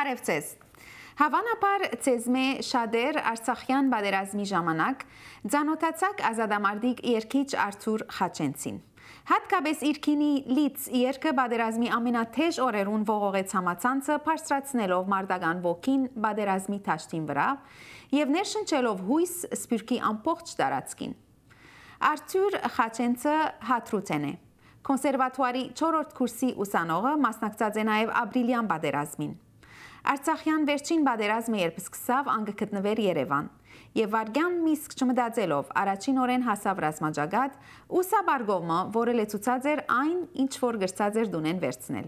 Բարև ձեզ։ Հավանաբար ձեզմե շատեր Արցախյան պատերազմի ժամանակ ծանոթացաք ազատամարտիկ երգիչ Արթուր Խաչենցին։ Հատկապես իր քինի լից երգը պատերազմի ամենաթեժ օրերուն ողողեց համացանցը բարձրացնելով մարտական ոգին պատերազմի դաշտին վրա եւ ներշնչելով հույս սփյուռքի ամբողջ տարածքին։ Արթուր Խաչենցը հատրուտեն է։ Կոնսերվատուարի 4-րդ կուրսի ուսանողը մասնակցած է նաև ապրիլյան պատերազմին։ Արցախյան վերջին պատերազմը երբ սկսավ, անգ գտնվեր Երևան, եւ վարգյան միսկ չմտածելով առաջին օրեն հասավ ռազմաճակատ ու սաբարգովը, որը լեցուցած էր այն, ինչ որ գրծած էր դունեն վերցնել։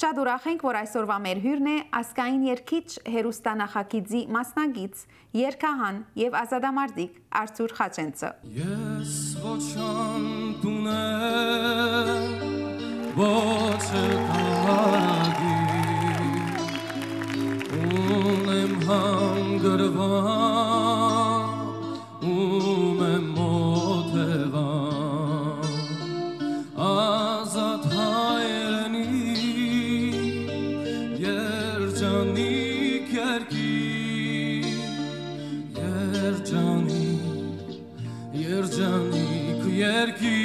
Շատ ուրախ ենք, որ այսօրվա մեր հյուրն է ասկային երգիչ հերոստանախագիծի մասնագիծ, երգահան եւ ազատամարտիկ Արթուր Խաչենցը։ Ես ոչան տունեմ, ոչ կարագի, ունեմ հանգրվան, ունեմ մոտևան, ազատ հայրենի, երջանիկ երջանիկ երկի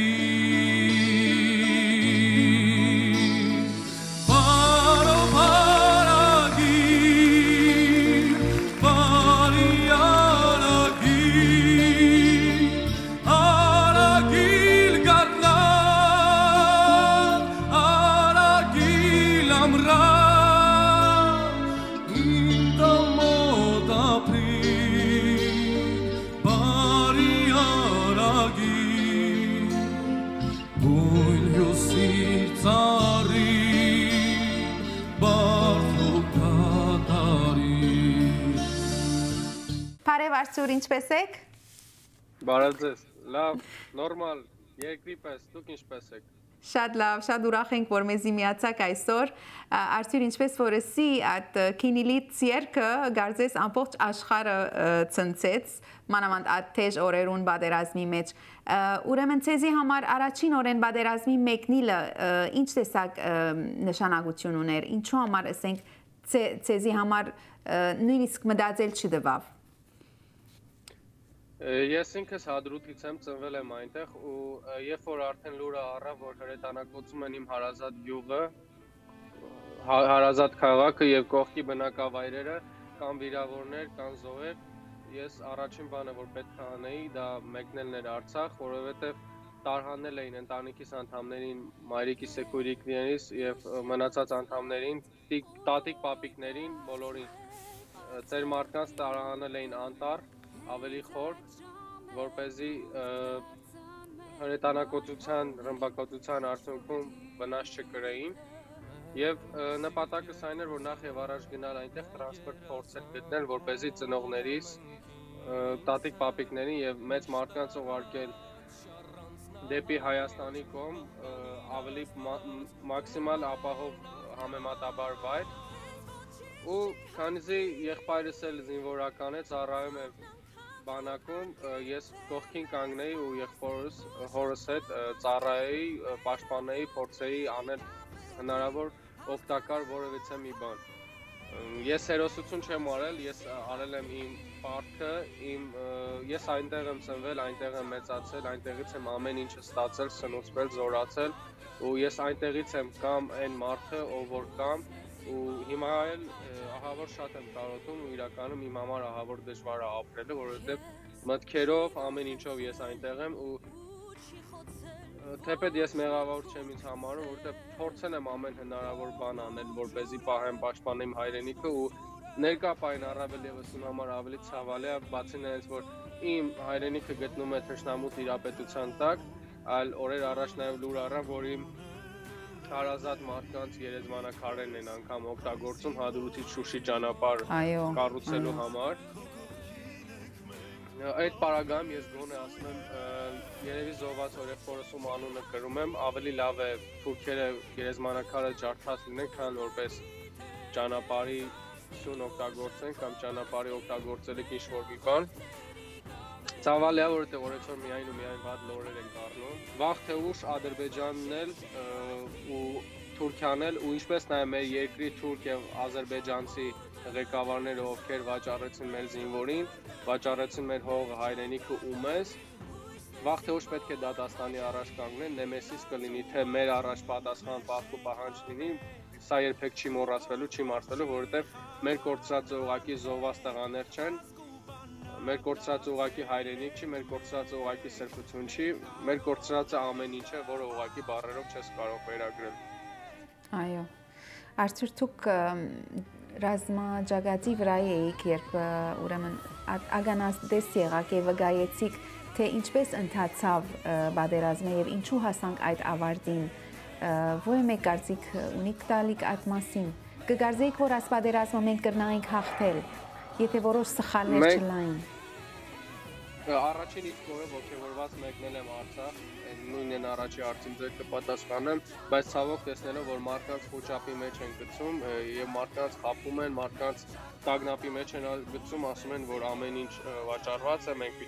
Արթուր, ինչպես եք։ Բարև ձեզ, լավ, նորմալ, երկրի պես, դուք ինչպես եք։ Շատ լավ, շատ ուրախ ենք, որ մեզի միացաք այսօր։ Արթուր, ինչպես որ ասի, այդ քինիլից երգը գարձես ամբողջ աշխարհը ցնցեց, մանավանդ այդ թեժ օրերուն պատերազմի մեջ։ Ուրեմն ցեզի համար առաջին օրեն պատերազմի մեկնիլը ինչ տեսակ նշանակություն ուներ, ինչու համար ասենք ցեզի համար նույնիսկ մտածել չդվավ։ Ես ինքս Հադրութից եմ, ծնվել եմ այնտեղ ու երբ որ արդեն լուրը առավ, որ հրետանակոծում են իմ հարազատ գյուղը, հարազատ քաղաքը եւ կողքի բնակավայրերը, կան վիրավորներ, կան զոհեր, ես առաջին բանը որ պետք է անեի, դա մեկնելն էր Արցախ, որովհետեւ տարհանել էին ընտանիքիս անդամներին, մայրիկիս սեկույրիկներից եւ մնացած անդամներին, տատիկ պապիկներին, բոլորին, ծեր մարդկանց տարհանել էին անտառ ավելի խոր, որպեսզի հրետանակոծության, ռմբակոծության արդյունքում վնաս չկրեին եւ նպատակս այն էր, որ նախ եւ առաջ գնալ այնտեղ տրանսպորտ փորձել գտնել, որպեսզի ծնողներիս, տատիկ պապիկներին եւ մեծ մարդկանց ուղարկել դեպի Հայաստանի կողմ ավելի մաքսիմալ ապահով համեմատաբար վայր ու քանզի եղբայրս էլ զինվորական է, ծառայում է բանակում, ես կողքին կանգնեի ու եղբորս հորս հետ ծառայեի, պաշտպանեի, փորձեի անել հնարավոր օգտակար որևիցե մի բան։ Ես հերոսություն չեմ արել, ես արել եմ իմ պարտքը, ես այնտեղ եմ ծնվել, այնտեղ եմ մեծացել, այնտեղից եմ ամեն ինչը ստացել, սնուցվել, զորացել ու ես այնտեղից եմ կամ այն մարդը, ով որ կամ ու հիմա էլ ահավոր շատ եմ կարոտում ու իրականում իմ համար ահավոր դժվար է ապրելը, որովհետև մտքերով ամեն ինչով ես այնտեղ եմ ու թեպետ ես մեղավոր չեմ ինձ համարում, որովհետև փորձել եմ ամեն հնարավոր բան անել, որպեսզի պահեմ, պաշտպանեմ հայրենիքը ու ներկա պահին առավել եւս իմ համար ավելի ցավալի է, բացի նրանից, որ իմ հայրենիքը գտնում է թշնամու տիրապետության տակ, այլ օրեր առաջ նաեւ լուր առա, որ իմ հարազատ մարդկանց երեզմանակարերն են անգամ օգտագործում Հադրութից Շուշի ճանապարհ կառուցելու համար։ Այդ պարագայում ես գոնե ասում եմ, երևի զոհված օրեղբորս ում անունը կրում եմ, ավելի լավ է թուրքերը երեզմանակարը ջարդած լինեն, քան որպես ճանապարհի սյուն օգտագործեն կամ ճանապարհի օգտագործելիք ինչ-որ մի բան։ Ցավալի է, որովհետև օրեցօր միայն ու միայն վատ լորեր են դառնում։ Վաղ թե ուշ Ադրբեջանն էլ ու Թուրքիան էլ ու ինչպես նաև մեր երկրի թուրք եւ ադրբեջանցի ղեկավարները, ովքեր վաճառեցին մեր զինվորին, վաճառեցին մեր հողը, հայրենիքը ու մեզ, վաղ թե ուշ պետք է դատաստանի առաջ կանգնեն, նեմեսիս կլինի, թե մեր առաջ պատասխան պահպու պահանջ լինի, սա երբեք չի մոռացվելու, չի մարսվելու, որովհետեւ մեր կորցրած ուղակի զոհված տղաներ չեն, մեր կորցրած ուղակի հայրենիք չի, մեր կորցրած ուղակի սրբություն չի, մեր կորցրածը ամեն ինչ է, որը ուղակի բառերով չես կարող վերագրել։ Այո։ Արծուր դուք ռազմաջագածի վրա էիք, երբ ուրեմն ագանազդես եղաք եւ վկայեցիք, թե ինչպես ընթացավ պատերազմը եւ ինչու հասանք այդ ավարտին։ Ո՞ր մեկ կարծիք ունիք տալիք այդ մասին։ Կգարձեիք, որ այս պատերազմը մենք կրնայինք հաղթել, եթե որոշ սխալներ չլային։ Առաջին իսկ օրը ոգևորված մեկնել եմ Արցախ, նույնն առաջի հարցին ձեր կպատասխանեմ, բայց ցավոք տեսնելով, որ մարդկանց խոճապի մեջ են գցում եւ մարդկանց խափում են, մարդկանց տագնապի մեջ են գցում, ասում են, որ ամեն ինչ վաճառված է, մենք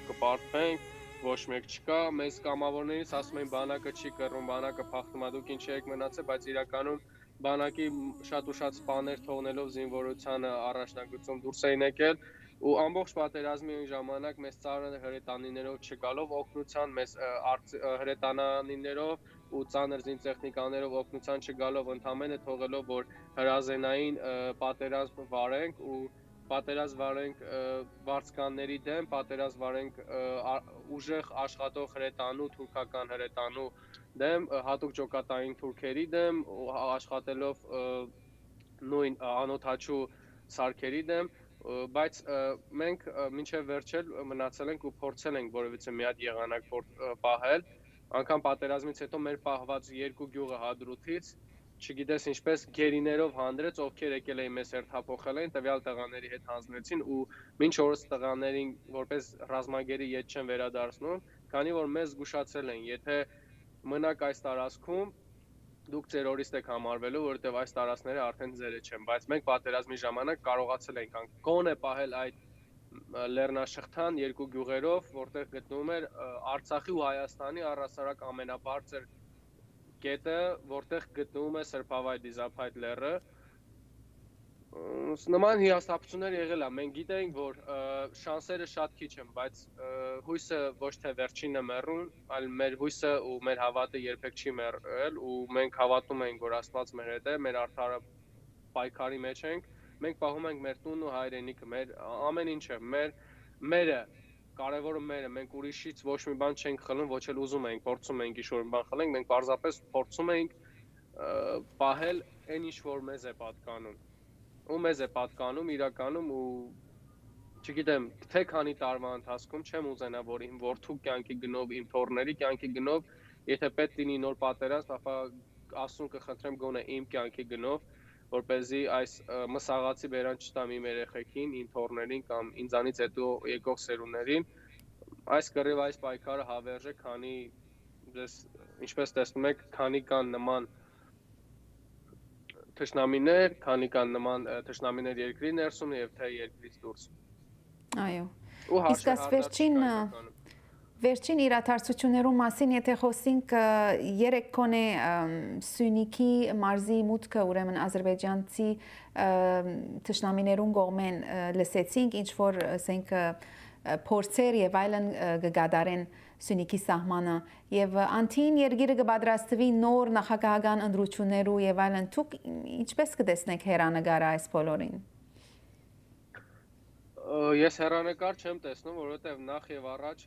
կպարտվենք, ոչ մեկ չկա, մեզ կամավորներից ասում են բանակը չի կռում, բանակը փախնում է, դուք ինչ եք մնացել, բայց իրականում բանակի շատ ու շատ սպաներ թողնելով զինվորությանը առաջնագծում դուրս էին եկել ու ամբողջ պատերազմի ժամանակ մեզ ծանր հրետանիներով չգալով օգնության, մեզ հրետանիներով ու ծանր զինտեխնիկաներով օգնության չգալով ընդամենը թողելով, որ հրազենային պատերազմ վարենք ու պատերազմ վարենք վարձկանների դեմ, պատերազմ վարենք ուժեղ աշխատող հրետանու, թուրքական հրետանու դեմ, հատուկ ջոկատային թուրքերի դեմ, աշխատելով նույն անօթաչու սարքերի դեմ, բայց մենք մինչև վերջել մնացել ենք ու փորձել ենք որևիցե մի հատ եղանակ պահել, անգամ պատերազմից հետո մեր պահված երկու գյուղը Հադրութից, չգիտես ինչպես գերիներով հանդրեց, ովքեր եկել էին մեզ հերթափոխել էին, տվյալ տղաների հետ հանձնեցին ու մինչ օրս տղաներին որպես ռազմագերի ետ չեն վերադարձնում, քանի որ մեզ զգուշացրել են, եթե մնաք այս տարածքում, դուք ձեր օրիստ եք համարվելու, որովհետև այս տարածքները արդեն ձերը չեն, բայց մենք պատերազմի ժամանակ կարողացել ենք գոնե պահել այդ լեռնաշղթան երկու գյուղերով, որտեղ գտնվում էր Արցախի ու Հայաստանի առհասարակ ամենաբարձր կետը, որտեղ գտնվում է Սրբավայր Դիզափայտ լեռը, նման հիասթափություններ եղել է, մենք գիտենք, որ շանսերը շատ քիչ են, բայց հույսը ոչ թե վերջինն է մեռում, այլ մեր հույսը ու մեր հավատը երբեք չի մեռել ու մենք հավատում ենք, որ Աստված մեր հետ է, մեր արդարը պայքարի մեջ ենք, մենք պահում ենք մեր տունն ու հայրենիքը, մեր ամեն ինչը, մերը կարևորը մերը, մենք ուրիշից ոչ մի բան չենք խլում, ոչ էլ ուզում ենք, փորձում ենք ինչ-որ բան խլենք, մենք պարզապես փորձում ենք պահել այն ինչ որ մեզ է պատկանում։ Ու մեզ է պատկանում իրականում ու չգիտեմ, թե քանի տարվա ընթացքում չեմ ուզենա, որ իմ որդու կյանքի գնով, իմ թոռների կյանքի գնով, եթե պետք լինի նոր պատերազմ, ապա Աստծուն կխնդրեմ գոնե իմ կյանքի գնով, որպեսզի այս մսաղացի բերան չտամ իմ երեխեքին, իմ թոռներին կամ ինձանից հետո եկող սերունդներին, այս կռիվ, այս պայքարը հավերժ է, քանի ձեզ ինչպես տեսնում եք, քանի կան նման թշնամիներ, քանի կան նման թշնամիներ երկրի ներսում եւ թե երկրից դուրս։ Այո։ Իսկ այս վերջին իրադարձություններու մասին, եթե խոսենք երեք կոնե Սյունիքի մարզի մուտքը, ուրեմն ադրբեջանցի թշնամիներուն կողմեն լսեցինք, ինչ որ ասենք փորձեր եւ այլն կգադարեն Սյունիքի սահմանը եւ անտին երկիրը կպատրաստվի նոր նախագահական ընտրություններու եւ այլն, դուք ինչպես կտեսնեք հերանեկարը այս բոլորին։ Ես հերանեկար չեմ տեսնում, որովհետեւ նախ եւ առաջ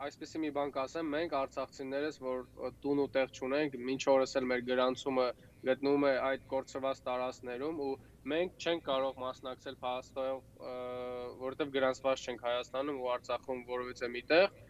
այսպեսի մի բան կասեմ, մենք արցախցիներս, որ տուն ու տեղ չունենք, մինչ օրս էլ մեր գրանցումը գտնվում է այդ կորցրված տարածքներում ու մենք չենք կարող մասնակցել փաստով, որովհետեւ գրանցված չենք Հայաստանում ու Արցախում որևիցե միտեղ։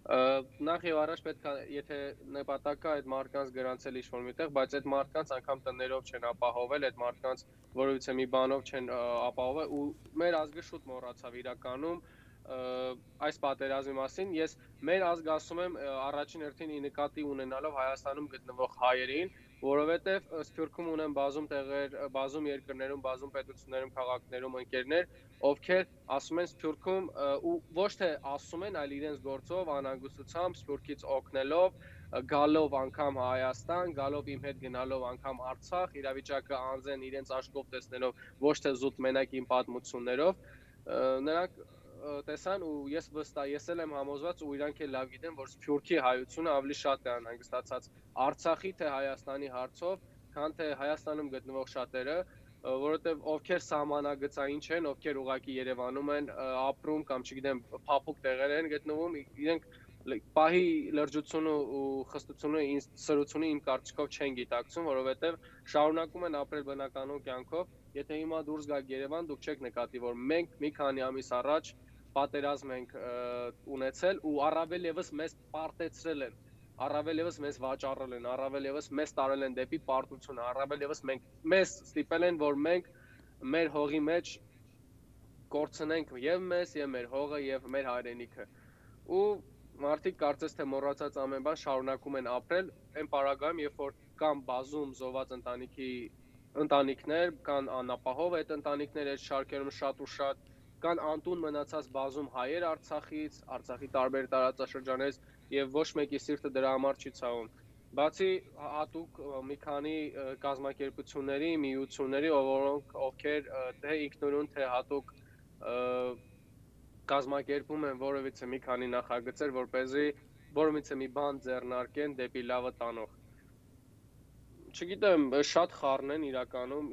Նախ եւ առաջ պետք է, եթե նպատակը այդ մարդկանց գրանցել ինչ-որ միտեղ, բայց այդ մարդկանց անգամ տներով չեն ապահովել, այդ մարդկանց որևիցե մի բանով չեն ապահովել ու մեր ազգը շուտ մոռացավ իրականում այս պատերազմի մասին, ես մեր ազգը ասում եմ առաջին հերթին նկատի ունենալով Հայաստանում գտնվող հայերին, որովհետև Սփյուռքում ունեն բազում տեղեր, բազում երկրներում, բազում պետություններում, քաղաքներում ընկերներ, ովքեր ասում են Սփյուռքում ու ոչ թե ասում են, այլ իրենց գործով, անհանգստությամբ, Սփյուռքից օգնելով, գալով անգամ Հայաստան, գալով իմ հետ գնալով անգամ Արցախ, իրավիճակը անձեն իրենց աչքով տեսնելով, ոչ թե զուտ մենակ իմ պատմություններով, նրանք տեսան ու ես էլ եմ համոզված ու իրանք էլ լավ գիտեն, որ Սփյուռքի հայությունը ավելի շատ է անհանգստացած Արցախի թե Հայաստանի հարցով, քան թե Հայաստանում գտնվող շատերը, որովհետև ովքեր սահմանագծային չեն, ովքեր ուղակի Երևանում են ապրում կամ չգիտեմ, փափուկ տեղեր են գտնվում, իրենք պահի լրջությունը ու խստությունը սրությունը իմ կարծիքով չեն գիտակցում, որովհետև շարունակում են ապրել բնականոն կյանքով, եթե հիմա դուրս գաք Երևան, դուք չեք նկատի, որ մենք մի քանի ամիս առաջ պատերազմ ենք ունեցել ու առավել եւս մեզ պարտեցրել են, առավել եւս մեզ վաճառել են, առավել եւս մեզ տարել են դեպի պարտությունը, առավել եւս մեզ ստիպել են, որ մենք մեր հողի մեջ կորցնենք եւ մեզ, եւ մեր հողը, եւ մեր հայրենիքը։ Ու մարդիկ կարծես թե մոռացած ամեն բան շարունակում են ապրել այն պարագայում, երբ որ կան բազում զոհված ընտանիքներ, կան անապահով այդ ընտանիքները այդ շարքերում շատ ու շատ, կան անտուն մնացած բազում հայեր Արցախից, Արցախի տարբեր տարածաշրջաններից եւ ոչ մեկի սիրտը դրա համար չի ցավում։ Բացի հատուկ մի քանի կազմակերպությունների, միությունների, ովքեր թե ինքնուրույն թե հատուկ կազմակերպում են որևիցե մի քանի նախագծեր, որպեսզի որևիցե մի բան ձեռնարկեն դեպի լավը տանող։ Չգիտեմ, շատ խառն են իրականում,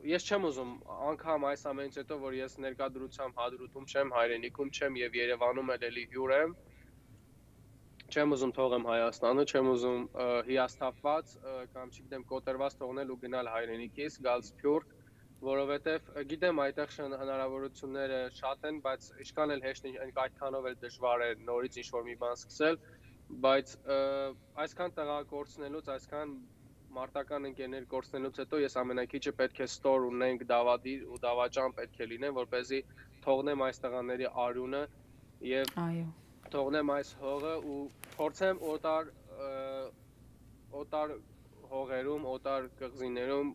ես չեմ ուզում անգամ այս ամենից հետո, որ ես ներկայդրությամբ հադրութում չեմ, հայրենիքում չեմ եւ Երևանում էլի հյուր եմ, չեմ ուզում թողեմ Հայաստանը, չեմ ուզում հիասթափված կամ չգիտեմ կոտրված թողնել ու գնալ հայրենիքից, գալ Սփյուռք, որովհետև գիտեմ այդտեղ հնարավորությունները շատ են, բայց ինչքան էլ հեշտ այդքանով էլ դժվար է նորից ինչ-որ մի բան սկսել, բայց այսքան տեղակորցնելուց, այսքան մարտական ընկերներ կորցնելուց հետո ես ամենակիչը պետք է ստոր ունենք դավադիր ու դավաճան պետք է լինեն, որպեսզի թողնեմ այս տղաների արյունը եւ թողնեմ այս հողը ու փորձեմ օտար հողերում, օտար կղզիներում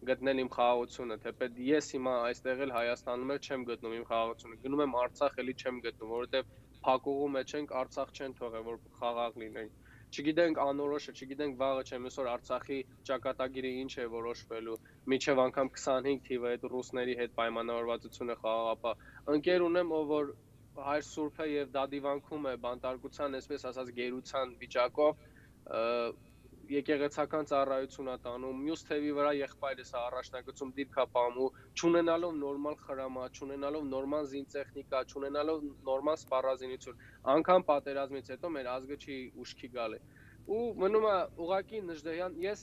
գտնել իմ խաղաղությունը, թեպետ ես հիմա այստեղ էլ Հայաստանում էլ չեմ գտնում իմ խաղաղությունը, գնում եմ Արցախ էլի չեմ գտնում, որովհետև փակուղու մեջ ենք, Արցախ չեն թողել, որ խաղաղ լինենք։ Չգիտենք անորոշը, չգիտենք վաղը չեմ այսօր Արցախի ճակատագիրը ինչ է որոշվելու, միջև անգամ 25 թիվը այդ ռուսների հետ պայմանավորվածությունը խաղաղապահ։ Ընկեր ունեմ, ով որ հայր սուրբ է եւ դադիվանքում է բանտարկության, այսպես ասած գերության վիճակով, եկեղեցական ծառայություն է տանում, մյուս թևի վրա եղբայրս է առաջնագծում դիրքա պահում ու չունենալով նորմալ խրամա, չունենալով նորմալ զինտեխնիկա, չունենալով նորմալ սպառազինություն, անգամ պատերազմից հետո մեր ազգը չի ուշքի գալի։ Ու մնում է ուղղակի Նժդեհյան, ես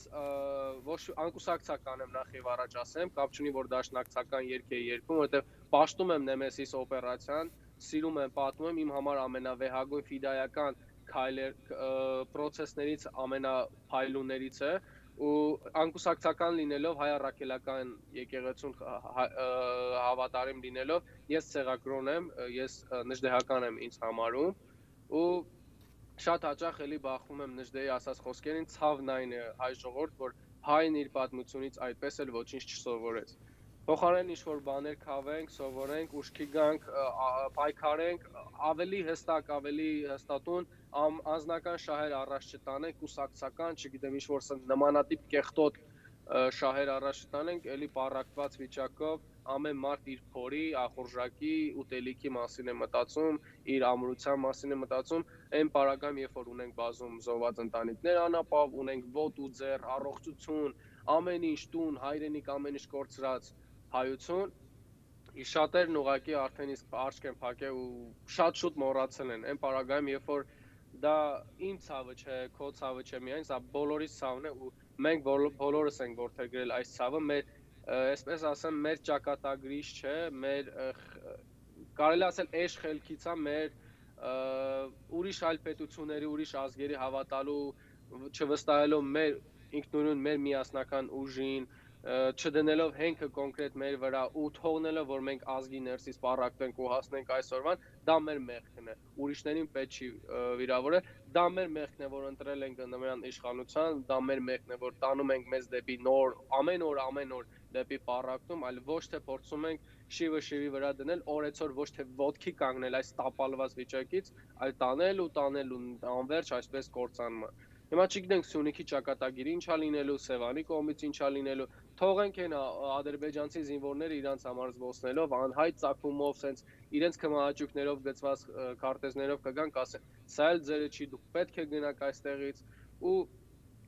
ոչ անկուսակցական եմ նախ եւ առաջ ասեմ, կապ չունի որ դաշնակցական երգ է երգում, որովհետեւ պաշտում եմ Նեմեսիս օպերացիան, սիրում եմ, պատմում եմ, իմ համար ամենավեհագույն ֆիդայական պրոցեսներից ամենափայլուններից է ու անկուսակցական լինելով հայ առաքելական եկեղեցուն հավատարիմ լինելով ես ցեղակրոն եմ, ես նժդեհական եմ ինձ համարում ու շատ հաճախ էլի բախվում եմ Նժդեհի ասած խոսքերին, ցավն այն է հայ ժողովուրդ, որ հայն իր պատմությունից այդպես էլ ոչինչ չսովորեց։ Փոխարեն ինչ-որ բաներ քավենք, սովորենք, ուշքի գանք, պայքարենք, ավելի հստատուն անձնական շահեր առաջ չտանենք, կուսակցական, չգիտեմ, ինչ-որ նմանատիպ կեղտոտ շահեր առաջ չտանենք, էլի պառակտված վիճակով ամեն մարդ իր փորի, ախորժակի, ուտելիքի մասին է մտածում, իր ամրության մասին է մտածում, այն պարագայում, երբ որ ունենք բազում զոհված ընտանիքներ անապահով, ունենք ոտք ու ձեռ, առողջություն, ամեն ինչ տուն, հայրենիք, ամեն ինչ կորցրած հայություն, շատերն ուղղակի արդեն իսկ աչք են փակել ու շատ շուտ մոռացել են, այն պարագայում, երբ որ դա իմ ցավը չէ, քո ցավը չէ միայն, սա բոլորիս ցավն է ու մենք բոլորս ենք որդեգրել այս ցավը, մեր այսպես ասեմ, մեր ճակատագրիչ չէ, մեր կարելի ասել էշ խելքից է մեր ուրիշ այլ պետությունների, ուրիշ ազգերի հավատալու, չվստահելով մեր ինքնուրույն մեր միասնական ուժին, չդնելով հենքը կոնկրետ մեր վրա ու թողնելով որ մենք ազգի ներսից պարակվենք ու հասնենք այսօրվան, դա մեր մեղքն է։ Ուրիշներին պետք չի վիրավորել, դա մեր մեղքն է, որ ընտրել ենք նման իշխանության, դա մեր մեղքն է, որ տանում ենք մեզ դեպի նոր, ամեն օր դեպի պարակտում, այլ ոչ թե փորձում ենք շիվի վրա դնել, օրեցօր ոչ թե ոտքի կանգնել այս տապալված վիճակից, այլ տանել ու անverջ այսպես կործանումը։ Հիմա չգիտենք Սյունիքի ճակատագիրը ինչա լինելու, Սևանի կողմից ինչա լինելու, թողենք այն ադրբեջանցի զինվորները իրանց համար զբոսնելով, անհայտ ծագումով, սենց իրենց քմահաճույքներով գծված քարտեզներով կգան, կասեն, սա էլ ձերը չի, դուք պետք է գնաք այստեղից ու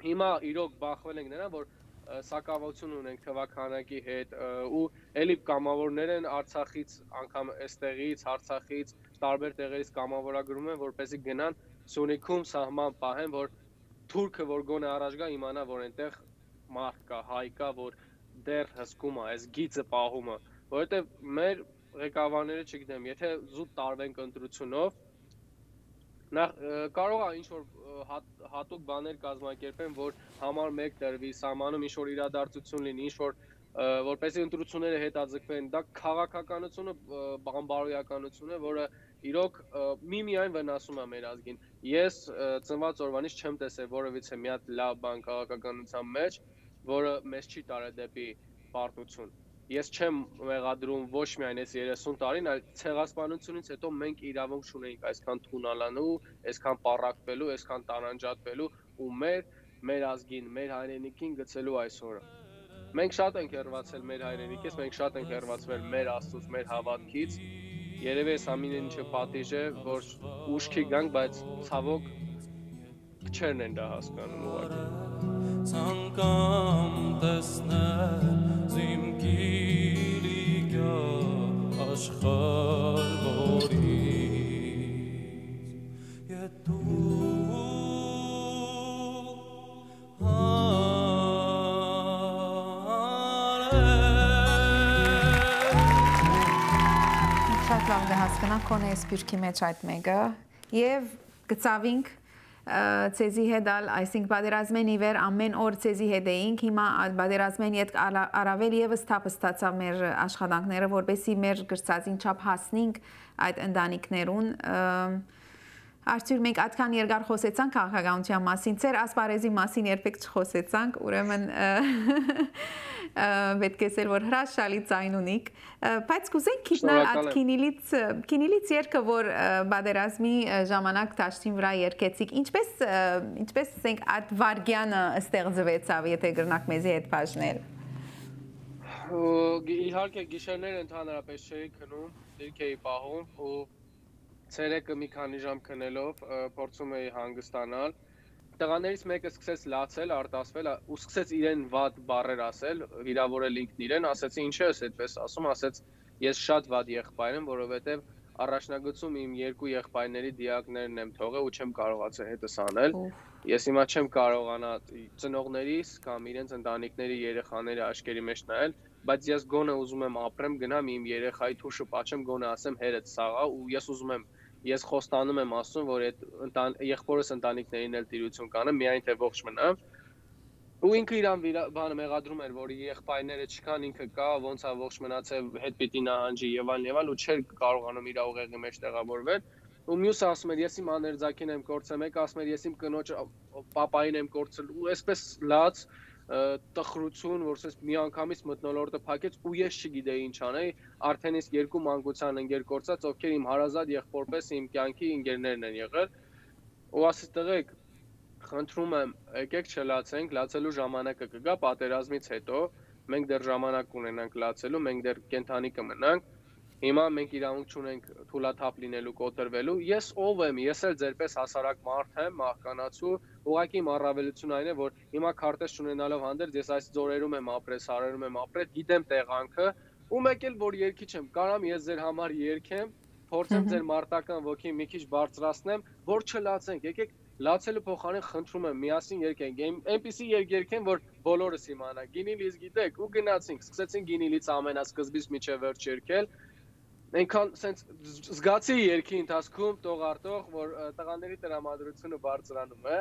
հիմա իրոք բախվել ենք նրան, որ սակավություն ունենք թվաքանակի հետ ու էլի կամավորներ են Արցախից, անգամ այստեղից, Արցախից, տարբեր տեղերից կամավորագրում են, որպեսզի գնան Սյունիքում սահման պահեն, որ թուրքը որ գոնե առաջ գա իմանա, որ այնտեղ մարդ կա, հայ կա, որ դեռ հսկում է, այս գիծը պահում է, որովհետև մեր ղեկավարները չգիտեմ, եթե զուտ տարվենք ընտրությունով, կարող է ինչ-որ հատուկ բաներ կազմակերպեն, որ համար մեկ տրվի, սահմանում ինչ-որ իրադարձություն լինի, ինչ-որ որպեսզի ընտրությունները հետաձգվեն, դա քաղաքականությունը, բանբարոյականություն է, որը իրոք միմիայն վնասում է մեր ազգին։ Ես ծնված օրվանից չեմ տեսել որևիցե մի հատ լավ բան քաղաքականության մեջ, որը մեզ չի տարել դեպի պարտություն։ Ես չեմ մեղադրում ոչ միայն այս 30 տարին, այլ ցեղասպանությունից հետո մենք իրավունք չունեինք այսքան թունալանու, այսքան պառակվելու, այսքան տարանջատվելու ու մեր ազգին, մեր հայրենիքին գցելու այս օրը։ Մենք շատ ենք հեռացել մեր հայրենիքից, մենք շատ ենք հեռացվել մեր Աստծուց, մեր հավատքից։ Երևի այս ամենը ինչը պատիժ է, որ ուշքի գանք, բայց ցավոք քչերն են դա հասկանում ուղղակի։ Ցանկամ տեսնել զիմգիրի աշխարհ որից Շատ լավ կհասկանանք քոնե սպիրկի մեջ այդ մեկը եւ գծավինք ցեզի հետալ, այսինքն պատերազմեն իվեր ամեն օր ցեզի հետ էինք, հիմա պատերազմեն իդ առավել եւս թափ ստացավ մեր աշխատանքները, որովհետեւ մեր գրծածին չափ հասնենք այդ ընտանիքներուն Արդյոք մենք այդքան երկար խոսեցանք քաղաքականության մասին, ծեր ասպարեզի մասին երբեք չխոսեցանք, ուրեմն պետք է ասել, որ հրաշալի ձայն ունիք, բայց կուզենք քիչնալ այդ քինիլից երգը, որ պատերազմի ժամանակ դաշտին վրա երգեցիք, ինչպես ասենք այդ վարգյանը ստեղծվեցավ, եթե գրնակ մեզի հետ բաժնել։ Իհարկե գիշերները ընդհանրապես չէի քնում, դիրք էի պահում ու ցերեկը մի քանի ժամ քնելով փորձում էի հանգստանալ։ Տղաներից մեկը սկսեց լացել, արտասվել ու սկսեց իրեն վատ բառեր ասել, վիրավորել ինքն իրեն, ասեցի ինչ ես այդպես ասում, ասեց ես շատ վատ եղբայր եմ, որովհետև առաջնագծում իմ երկու եղբայրների դիակներն եմ թողել ու չեմ կարողացել հետս անել։ Ես հիմա չեմ կարողանա ծնողներիս կամ իրենց ընտանիքների երեխաների աչքերի մեջ նայել, բայց ես գոնե ուզում եմ ապրեմ, գնամ իմ երեխայի թուշը պատճեմ, գոնե ասեմ հերդ սաղա ու ես ուզում եմ Ես խոստանում եմ ասում, որ այդ եղբորս ընտանիքներին էլ տիրություն կանեմ, միայն թե ողջ մնամ։ Ու ինքը իրան բանը մեղադրում էր, որ եղբայրները չկան, ինքը կա, ոնց է ողջ մնացել, հետ պիտի նահանջի եւ այլն, ու չէր կարողանում իր ուղեղի մեջ տեղավորվել։ Ու մյուսը ասում էր, ես իմ աներձակին եմ կորցրել, մեկը ասում էր, ես իմ կնոջ պապային եմ կորցրել, ու այսպես լաց տխրություն, որ ասես մի անգամից մթնոլորտը փակեց ու ես չգիտեի ինչ անեի, արդեն իսկ երկու մանկության ընկեր կորցած, ովքեր իմ հարազատ եղբորպես իմ կյանքի ընկերներն են եղել, ու ասես տղեկ, խնդրում եմ, եկեք չլացենք, լացելու ժամանակը կգա պատերազմից հետո, մենք դեռ ժամանակ ունենանք լացելու, մենք դեռ կենթանի կմնանք, հիմա մենք իրավունք չունենք թուլաթափ լինելու, կոտրվելու, ես ով եմ, ես էլ ձերպես հասարակ մարդ եմ, մահկանացու, ուղղակի իմ առավելությունը այն է, որ հիմա քարտեզ չունենալով հանդերձ ես այս ձորերում եմ ապրել, սարերում եմ ապրել, գիտեմ տեղանքը, ու մեկ էլ որ երկիչ եմ, կարամ ես ձեր համար երգեմ, փորձեմ ձեր մարտական ոգին մի քիչ բարձրացնեմ, որ չլացենք, եկեք լացելու փոխարեն խնդրում եմ միասին երգենք, այնպիսի երգ երգեն, որ բոլորս իմանանք, գինիլից գիտեք, ու գնացինք, սկսեցին գինիլից ամենասկզբից մինչև վերջ երգել, այնքան սենց զգացի երգի ընթացքում տող արտող, որ տղաների տրամադրությունը բարձրանում է,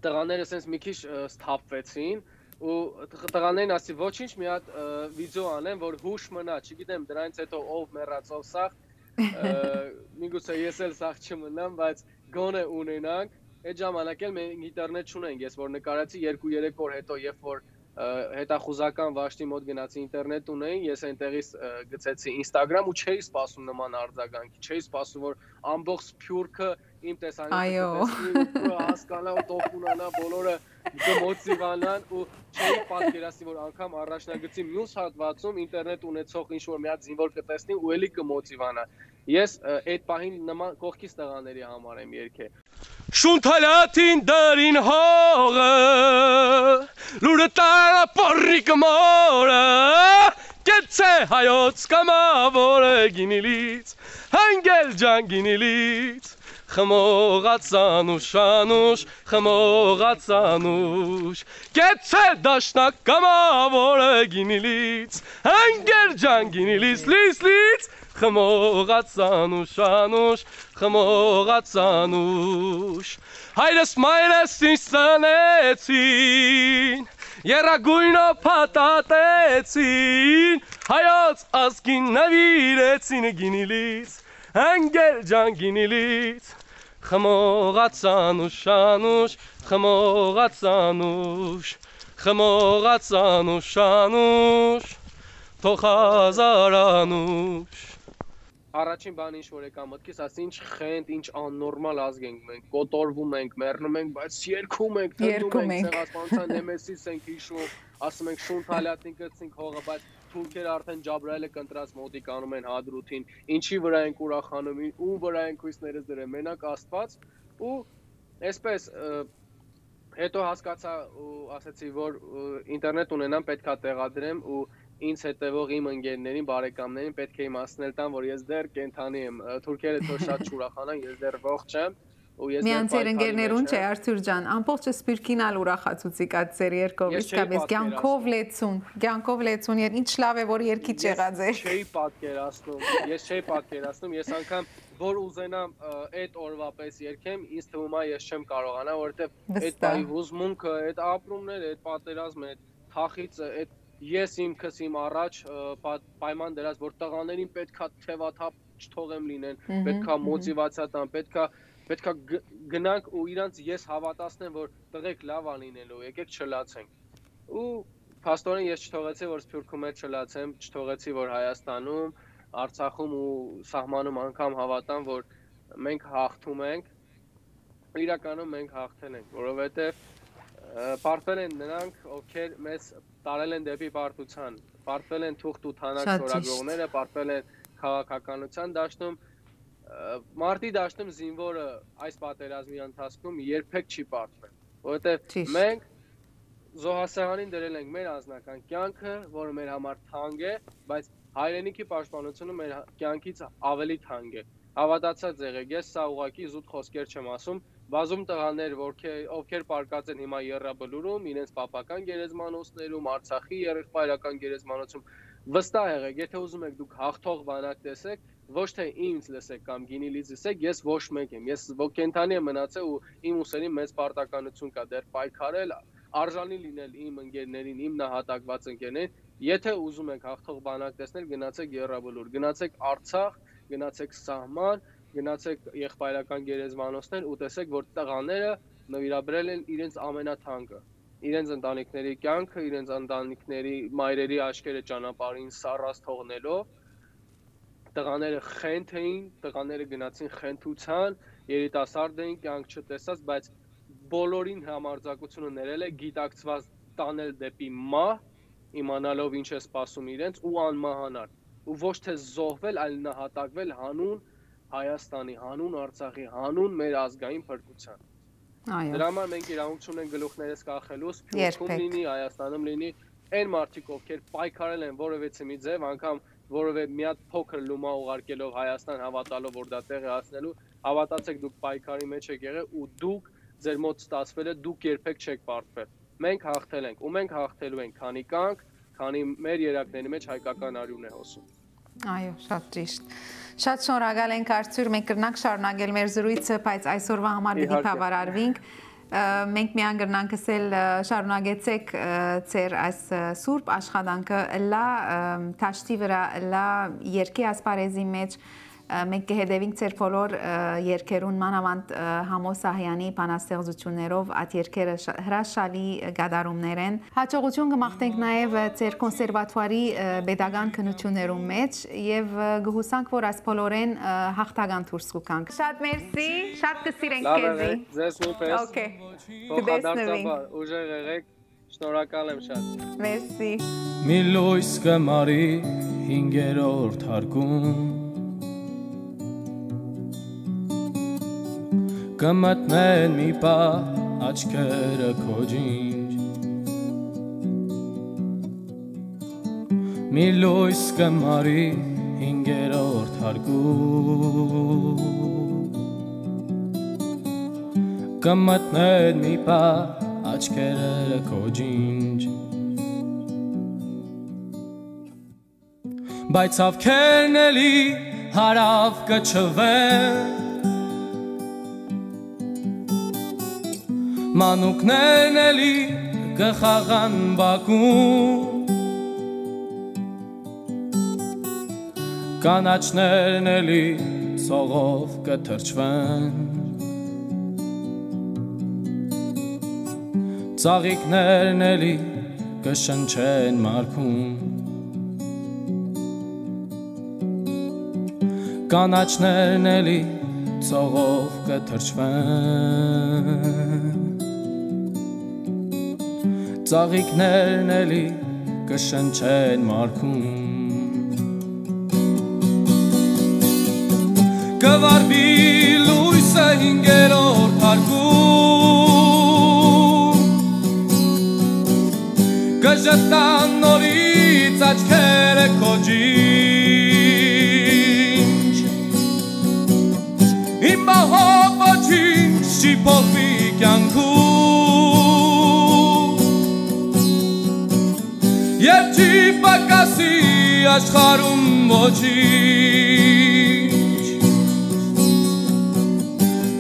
տղաները սենց մի քիչ սթափվեցին, ու տղաներին ասի ոչինչ մի հատ վիդեո անեմ, որ հուշ մնա, չգիտեմ դրանից հետո ով մեռած ով սաղ, միգուցե ես էլ սաղ չմնամ, բայց գոնե ունենանք, այդ ժամանակ էլ մենք ինտերնետ չունենք, ես որ նկարացի 2-3 օր հետո, երբ որ հետախուզական վաշտի մոտ գնացի ինտերնետ ունեին, ես այնտեղից գցեցի Instagram ու չէի սպասում նման արձագանքի, չէի սպասում, որ ամբողջ Սփյուռքը իմ տեսանյութը հասկանա ու տոկունանա, բոլորը կմոտիվանան ու չէի պատկերացնի, որ անգամ առաջնագծի մյուս հատվածում ինտերնետ ունեցող ինչ-որ մի հատ զինվոր կտեսնի ու էլի կմոտիվանա։ Ես այդ պահին նման կողքից տղաների համար եմ երգել։ Շունթալատին դարին հողը, լուրը տարա պորրիկ մորը, կեցե հայոց կամավորը գինիլից, հանգել ջան գինիլից, խմողած անուշ անուշ, խմողած անուշ, կեցե դաշնակ կամավորը գինիլից, հանգել ջան գինիլից, լից, խմողած անուշ անուշ, խմողած անուշ, հայրս մայրս ինձ ծնեցին, երագույնով փաթաթեցին, հայոց ազգին նվիրեցին գինիլից, հանգել ջան գինիլից, խմողած անուշ անուշ, խմողած անուշ, խմողած անուշ անուշ, թող հազար անուշ։ Առաջին բանը ինչ որ եկա մտքիս, ասի ինչ խենթ, ինչ աննորմալ ազգ ենք մենք, կոտորվում ենք, մեռնում ենք, բայց երգում ենք, թնդում ենք, ցեղասպանության նեմեսիս ենք հիշում, ասում ենք շունթալյատնի գցինք հողը, բայց թուրքերը արդեն Ջաբրայելը կընտրած մոտիկ անում են Հադրութին, ինչի վրա ենք ուրախանում, ում վրա ենք հույսներս դրել, մենակ Աստված ու այսպես հետո հասկացա ու ասացի, որ ինտերնետ ունենամ պետքա տեղադրեմ ու ինձ հետևող իմ ընկերներին, բարեկամներին պետք է իմացնել տան, որ ես դեռ կենթանի եմ, թուրքերը թող շատ չուրախանան, ես դեռ ողջ եմ ու ես Միայն ձեր ընկերներուն չէ, Արթուր ջան, ամբողջ Սփյուռքին ալ ուրախացուցիկ այդ ձեր երկով, իսկապես կյանքով լեցուն, ինչ լավ է, որ երկի եղած է։ Ես չէի պատկերացնում, ես անգամ որ ուզենամ այդ օրվա պես երգեմ, ինձ թվում է ես չեմ կարողանա, որովհետև այդ բայի հուզմունքը, այդ ապրումները, այդ պատերազմը, այդ թախիծը, այդ ես ինքս իմ առաջ պայման դրած, որ տղաներին պետքա թևաթափ չթողեմ լինեն, պետքա մոտիվացիա տամ, պետքա գնանք ու իրանց ես հավատացնեմ, որ տղեկ լավ ա լինելու, եկեք չլացենք։ Ու փաստորեն ես չթողեցի, որ Սփյուռքում էլ չլացեմ, չթողեցի, որ Հայաստանում, Արցախում ու սահմանում անգամ հավատամ, որ մենք հաղթում ենք, իրականում մենք հաղթել ենք, որովհետև պարտվել են նրանք, ովքեր մեզ տարել են դեպի պարտության, պարտվել են թուղթ ու թանակ շորագրողները, պարտվել են քաղաքականության դաշտում, մարտի դաշտում զինվորը այս պատերազմի ընթացքում երբեք չի պարտվել, որովհետև մենք զոհասեղանին դրել ենք մեր անձնական կյանքը, որը մեր համար թանկ է, բայց հայրենիքի պաշտպանությունը մեր կյանքից ավելի թանկ է։ Հավատացած եղեք, ես սա ուղղակի զուտ խոսքեր չեմ ասում, բազում տղաներ, ովքեր պարկած են հիմա Եռաբլուրում, իրենց պապական գերեզմանոցներում, Արցախի եղբայրական գերեզմանոցում, վստահ եղեք, եթե ուզում եք դուք հաղթող բանակ տեսեք, ոչ թե ինձ լսեք կամ գինիլից լսեք, ես ոչ մեկ եմ, ես կենթանի եմ մնացել ու իմ ուսերին մեծ պարտականություն կա դեռ պայքարել, արժանի լինել իմ ընկերներին, իմ նահատակված ընկերներին, եթե ուզում եք հաղթող բանակ տեսնել, գնացեք Եռաբլուր, գնացեք Արցախ, գնացեք սահման, գնացեք եղբայրական գերեզմանոցներ ու տեսեք, որ տղաները նվիրաբերել են իրենց ամենաթանկը, իրենց ընտանիքների կյանքը, իրենց ընտանիքների մայրերի աչքերը ճանապարհին սառած թողնելով, տղաները խենթ էին, տղաները գնացին խենթության, երիտասարդ էին, կյանք չտեսած, բայց բոլորին համարձակությունը ներել է գիտակցված տանել դեպի մահ, իմանալով ինչ է սպասում իրենց ու անմահանալ, ու ոչ թե զոհվել, այլ նահատակվել հանուն Հայաստանի, հանուն Արցախի, հանուն մեր ազգային փրկության։ Դրա համար մենք իրավունք ունենք գլուխներս կախելու, Սփյուռքում լինի, Հայաստանում լինի, այն մարդիկ, ովքեր պայքարել են որևէ մի ձև, անգամ որևէ մի հատ փոքր լումա ուղարկելով Հայաստան հավատալով, որ դա տեղի հասնելու, հավատացեք դուք պայքարի մեջ եք եղել ու դուք ձեր մոտ ստացվել է, դուք երբեք չեք պարտվել։ Մենք հաղթել ենք ու մենք հաղթելու ենք, քանի կանք, քանի մեր երակների մեջ հայկական արյուն է հոսում։ Այո, շատ ճիշտ։ Շատ շնորհակալ ենք Արթուր, մենք կրնանք շարունակել մեր զրույցը, բայց այսօրվա համար պիտի բավարարվենք։ Մենք միան գրնանք ասել շարունակեցեք ձեր այս սուրբ աշխատանքը լա թաշտի վրա լա երկի ասպարեզի մեջ մենք կհետևենք ձեր բոլոր երկերուն մանավանդ Համոս Սահյանի բանաստեղծություններով այդ երկերը հրաշալի գադարումներ են հաջողություն կմաղթենք նաև ձեր կոնսերվատուարի pedagogan քննություններում մեջ եւ գհուսանք որ այս բոլորեն հաղթական դուրս կգանք շատ մերսի շատ կսիրենք քեզի ձեզ նույնպես օքեյ փոխադարձաբար ուժեղ եղեք շնորհակալ եմ շատ մերսի մի լույս կմարի 5-րդ հարկում Կմտնեն մի պահ աչքերը քո ջինջ Մի լույս կմարի 5-րդ հարկում Կմտնեն մի պահ աչքերը քո ջինջ Բայց ավքերն էլի հարավ կչվեն Մանուկներն էլի կխաղան բակում Կանաչներն էլի ցողով կթրջվեն Ծաղիկներն էլի կշնչեն մարքում Կանաչներն էլի ցողով կթրջվեն Ծաղիկներն էլի կշնչեն մարքում Կվարվի լույսը 5-րդ հարկում Կժտան նորից աչքերը քո ջինջ Իմ բահով ոչինչ չի փոխվի կյանքում Եվ չի պակասի աշխարհում ոչինչ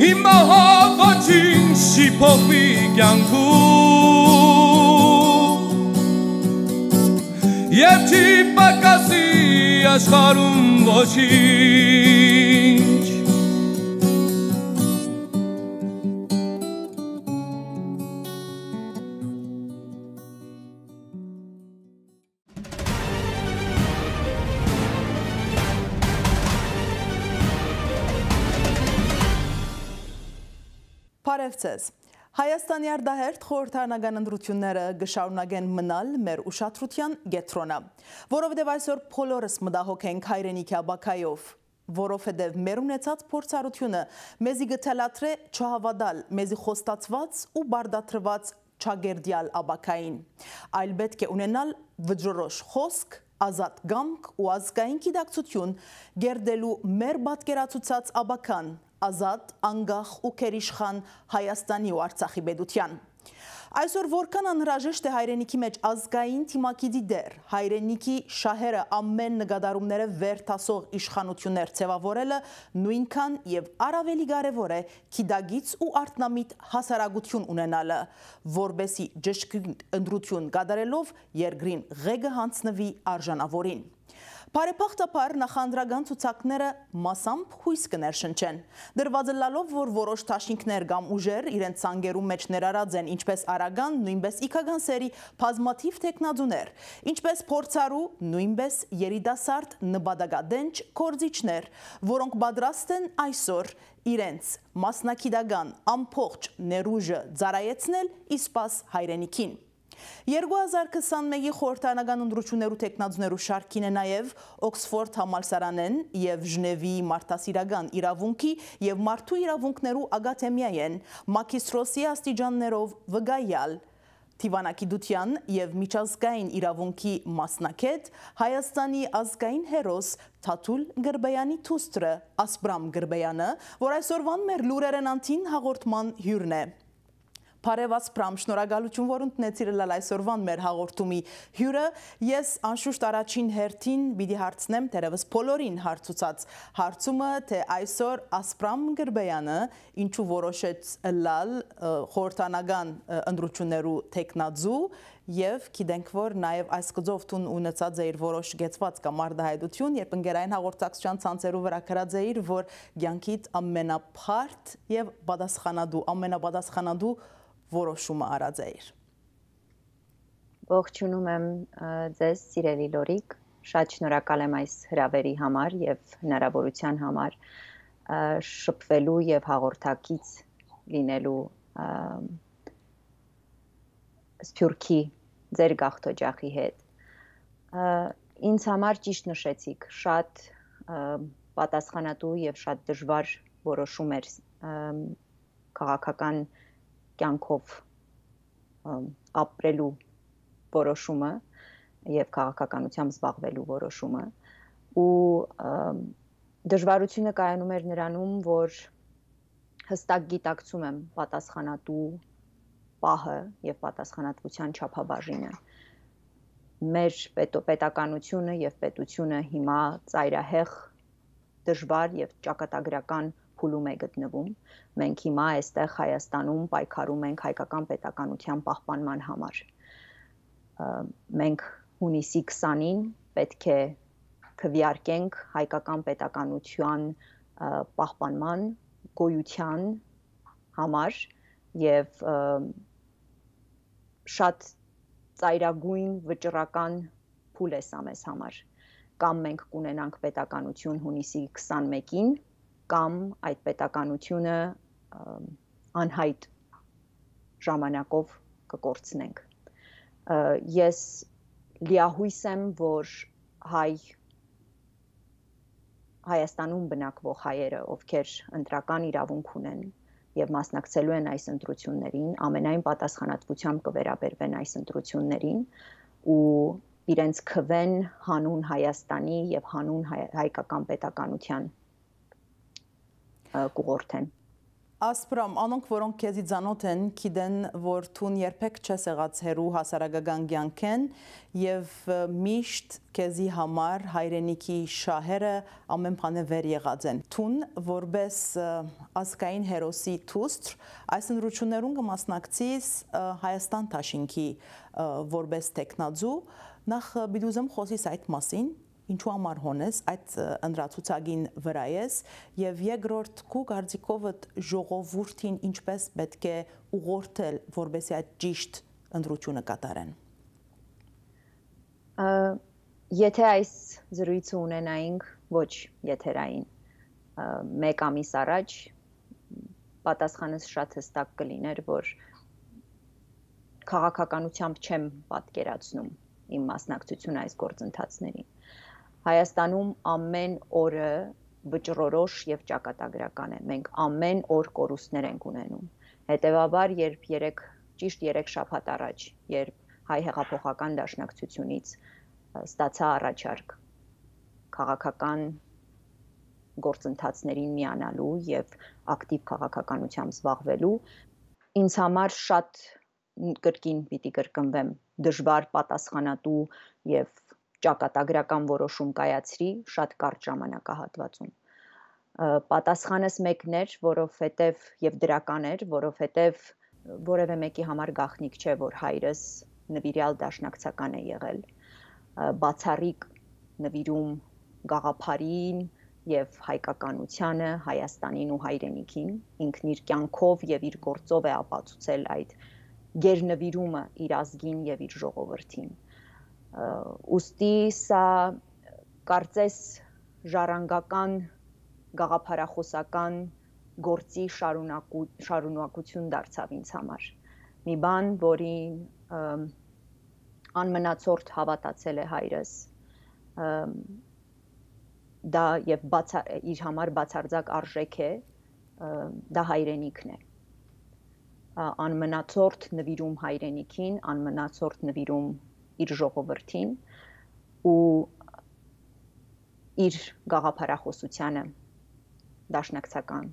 Իմ մահով ոչինչ չի փոխվի կյանքում Եվ չի պակասի աշխարհում ոչինչ Բարևձեզ։ Հայաստանի արտահերթ խորհրդարանական ընտրությունները կշարունակեն մնալ մեր ուշադրության կենտրոնը, որովհետև այսօր բոլորս մտահոգ ենք հայրենիքի աբակայով, որովհետև մեր ունեցած փորձառությունը մեզի կթելադրե չհավատալ մեզի խոստացված ու բարդատրված չագերդյալ աբակային, այլ պետք է ունենալ վճռոտ խոսք, ազատ կամք ու ազգային գիտակցություն գերդելու մեր պատկերացուցած աբական ազատ, անգախ ու քերիշխան Հայաստանի ու Արցախի պետության։ Այսօր որքան անհրաժեշտ է հայրենիքի մեջ ազգային թիմակիդի դեր, հայրենիքի շահերը ամեն նկատառումները վեր տասող իշխանություններ ձևավորելը նույնքան եւ առավելի կարեւոր է գիտագից ու արտնամիտ հասարակություն ունենալը, որբեսի ճշգրիտ ընտրություն կատարելով երկրին ղեկը հանձնվի արժանավորին։ Բարեփոխտապար նախանդրական ցուցակները մասամբ հույս կներշնչեն, դրված լալով, որ որոշ դաշինքներ կամ ուժեր իրենց ցանկերում մեջ ներառած են ինչպես արագան, նույնպես իքական սերի բազմաթիվ տեխնազուներ, ինչպես փորձառու, նույնպես երիտասարդ նպատակադենչ գործիչներ, որոնք պատրաստ են այսօր իրենց մասնակիտական ամբողջ ներուժը ծառայեցնել իսպաս հայրենիքին։ 2021-ի խորհրդարանական ընտրություններու տեխնազուներու շարքին է նաև Օքսֆորդ համալսարանեն եւ Ժնևի մարդասիրական իրավունքի եւ մարդու իրավունքներու ակադեմիայեն մագիստրոսի աստիճաններով վկայալ Թիվանագիտության եւ միջազգային իրավունքի մասնակետ Հայաստանի ազգային հերոս Թաթուլ Գրբեյանի թուստրը Ասպրամ Գրբեյանը, որ այսօրվան մեր լուրերեն անտին հաղորդման հյուրն է։ Բարև Ասպրամ, շնորհակալություն, որ ընդունեցիր այսօրվան մեր հաղորդումի հյուրը։ Ես անշուշտ առաջին հերթին պիտի հարցնեմ դերևս բոլորին հարցուցած հարցումը, թե այսօր Ասպրամ Գրբեյանը ինչու որոշեց լալ խորհրդանական ընտրություններու տեխնազու եւ գիտենք, որ նաեւ այս գծով տուն ունեցած էր որոշ գեցված կամ արդահայտություն, երբ ընկերային հաղորդակցության ցանցերու վրա գրած էր, որ ցանկիտ ամենափարտ եւ ամենապատասխանատու որոշումը արած էր։ Ողջունում եմ ձեզ, սիրելի Լորիկ, շատ շնորհակալ եմ այս հրավերի համար եւ հնարավորության համար շփվելու եւ հաղորդակից լինելու Սփյուռքի ձեր գաղթօջախի հետ։ Ինձ համար ճիշտ նշեցիք, շատ պատասխանատու եւ շատ դժվար որոշում էր քաղաքական կյանքով ապրելու որոշումը եւ քաղաքականությամբ զբաղվելու որոշումը ու դժվարությունը կայանում էր նրանում, որ հստակ գիտակցում եմ պատասխանատու պահը եւ պատասխանատվության չափաբաժինը։ Մեր պետականությունը եւ պետությունը հիմա ծայրահեղ դժվար եւ ճակատագրական փուլում է գտնվում։ Մենք հիմա այստեղ Հայաստանում պայքարում ենք հայկական պետականության պահպանման համար։ Մենք հունիսի 20-ին պետք է քվեարկենք հայկական պետականության պահպանման գոյության համար եւ շատ ծայրագույն վճռական փուլ է սա մեզ համար։ Կամ մենք կունենանք պետականություն հունիսի 21-ին, կամ այդ պետականությունը անհայտ ժամանակով կկորցնենք։ Ես լիահույս եմ, որ Հայաստանում բնակվող հայերը, ովքեր ընտրական իրավունք ունեն եւ մասնակցելու են այս ընտրություններին, ամենայն պատասխանատվությամբ կվերաբերվեն այս ընտրություններին ու իրենց քվեն հանուն Հայաստանի եւ հանուն հայկական պետականության կուղորթեն։ Ասպրամ, անոնք, որոնք քեզի ծանոթ են, գիտեն, որ տուն երբեք չես եղած հերու հասարակական կյանքեն եւ միշտ քեզի համար հայրենիքի շահերը ամեն բանը վեր եղած են։ Տուն որպես ազգային հերոսի թուստր այս ընտրություններուն կմասնակցիս Հայաստան Թաշինքի որպես տեխնազու, նախ բիդուզեմ խոսիս այդ մասին, ինչու համար հոնես այդ ընդրացուցակին վրա ես եւ երկրորդ քու կարծիքովդ ժողովուրդին ինչպես պետք է ուղղորդել որպեսզի այդ ճիշտ ընտրությունը կատարեն։ Եթե այս զրույցը ունենայինք ոչ եթերային 1 ամիս առաջ պատասխանս շատ հստակ կլիներ, որ քաղաքականությամբ չեմ պատկերացնում իմ մասնակցությունը այս գործընթացներին։ Հայաստանում ամեն օրը վճռորոշ եւ ճակատագրական է։ Մենք ամեն օր կորուստներ ենք ունենում։ Հետևաբար, երբ ճիշտ 3 շաբաթ առաջ, երբ հայ հեղափոխական դաշնակցությունից ստացա առաջարկ քաղաքական գործընթացներին միանալու եւ ակտիվ քաղաքականությամբ զբաղվելու, ինձ համար շատ կրկին պիտի կրկնվեմ դժվար պատասխանատու եւ ճակատագրական որոշում կայացրի շատ կարճ ժամանակահատվածում։ Պատասխանս մեկն էր, որովհետև եւ դրական էր, որովհետև որևէ մեկի համար գաղտնիք չէ, որ հայրս նվիրյալ դաշնակցական է եղել։ Բացառիկ նվիրում գաղափարին եւ հայկականությանը, Հայաստանին ու հայրենիքին, ինքն իր կյանքով եւ իր գործով է ապացուցել այդ գերնվիրումը իր ազգին եւ իր ժողովրդին։ Ուստի սա կարծես ժառանգական գաղափարախոսական գործի շարունակություն դարձավ ինձ համար։ Մի բան, որին անմնացորդ հավատացել է հայրս, դա եւ իր համար բացարձակ արժեք է, դա հայրենիքն է։ Անմնացորդ նվիրում հայրենիքին, անմնացորդ նվիրում իր ժողովրդին ու իր գաղափարախոսությանը, դաշնակցական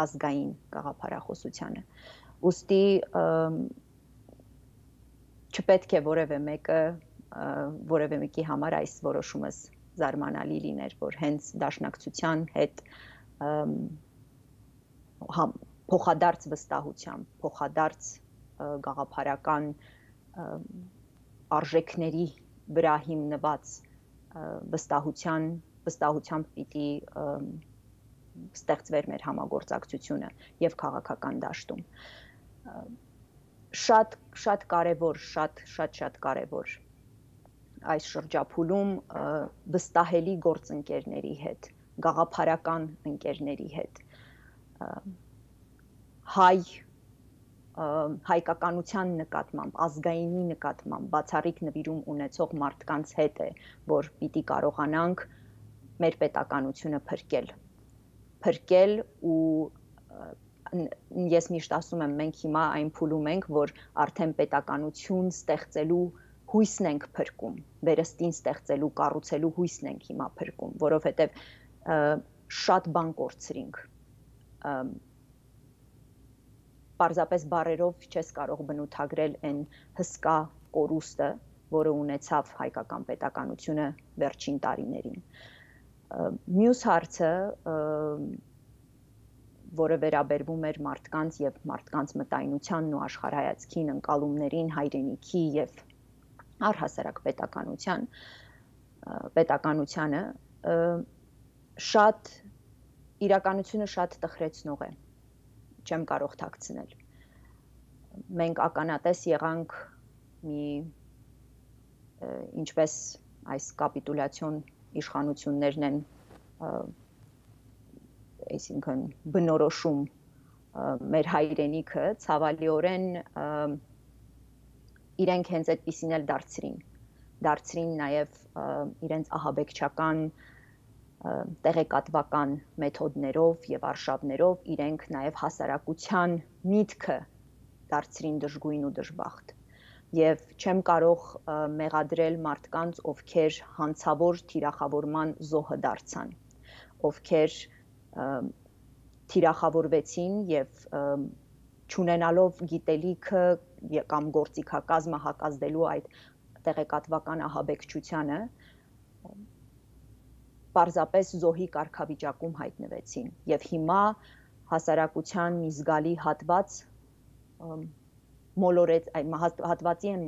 ազգային գաղափարախոսությանը։ ուստի չպետք է որևէ մեկի համար այս որոշումս զարմանալի լիներ, որ հենց դաշնակցության հետ փոխադարձ վստահությամբ, փոխադարձ գաղափարական արժեքների վրա հիմնված վստահությամբ պիտի ստեղծվեր մեր համագործակցությունը եւ քաղաքական դաշտում։ Շատ կարևոր այս շրջափուլում վստահելի գործընկերների հետ, գաղափարական ընկերների հետ, հայկականության նկատմամբ, ազգայինի նկատմամբ բացառիկ նվիրում ունեցող մարդկանց հետ է, որ պիտի կարողանանք մեր պետականությունը փրկել ու ես միշտ ասում եմ, մենք հիմա այն փուլում ենք, որ արդեն պետականություն ստեղծելու հույսն ենք փրկում, վերստին ստեղծելու, կառուցելու հույսն ենք հիմա փրկում, որովհետև շատ բան կորցրինք։ Պարզապես բառերով չես կարող բնութագրել այն հսկա կորուստը, որը ունեցավ հայկական պետականությունը վերջին տարիներին։ Մյուս հարցը, որը վերաբերվում էր մարդկանց եւ մարդկանց մտայնությանն ու աշխարհայացքին, ընկալումներին, հայրենիքի եւ առհասարակ պետականությանը իրականությունը շատ տխրեցնող է, չեմ կարող թաքցնել։ Մենք ականատես եղանք ինչպես այս կապիտուլյացիոն իշխանություններն են, այսինքն բնորոշում մեր հայրենիքը, ցավալիորեն իրենք հենց այդպիսին էլ դարձրին նաև իրենց ահաբեկչական տեղեկատվական մեթոդներով եւ արշավներով իրենք նաև հասարակության միտքը դարձրին դժգույն ու դժբախտ։ Եվ չեմ կարող մեղադրել մարդկանց, ովքեր հանցավոր թիրախավորման զոհը դարձան, ովքեր թիրախավորվեցին եւ չունենալով գիտելիքը կամ գործիքակազմը հակազդելու այդ տեղեկատվական ահաբեկչությանը, պարզապես զոհի կարգավիճակում հայտնվեցին եւ հիմա հասարակության մի զգալի հատվածի են